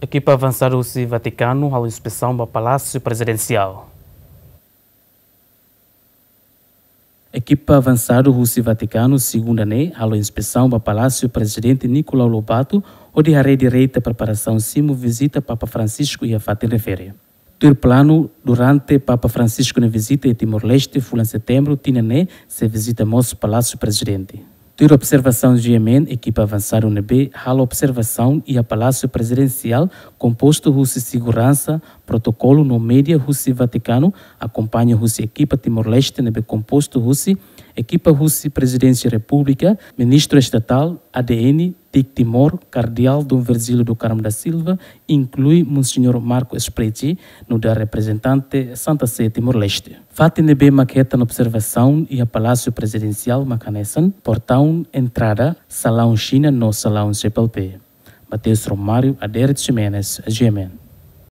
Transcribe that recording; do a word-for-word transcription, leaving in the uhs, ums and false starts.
Ekipa avansadu husi Vatikanu halo inspesaun ba Palásiu Prezidensiál. Ekipa avansadu husi Vatikanu segunda ne'e halo inspesaun ba Palásiu Prezidente Nicolau Lobato, hodi haree direta preparasaun simu vizita Papa Francisco iha fatin refere. Tuir planu, durante Papa Francisco nia vizita iha Timor-Leste fulan Setembru tinan ne'e, sei vizita mós Palásiu Prezidente. Tuir observasaun GMN, ekipa avansadu ne'ebé halo observasaun iha Palásiu Prezidensiál kompostu husi seguransa, protokolu no média husi Vatikanu, akompaña husi ekipa Timor-Leste ne'ebé kompostu husi ekipa husi Prezidénsia Repúblika, Ministru Estatál, ADN, TIC Timor, Kardeál Dom Virgílio do Carmo da Silva, inklui Monseñór Marco Spreci, nu'udar reprezentante Santa Sé Timor-Leste. Fatin ne'ebé mak hetan observasaun iha Palásiu Prezidensiál mak hanesan portaun entrada, salaun Xina no salaun C P L P. Mateus Romário, Adérito Ximenes, GMN.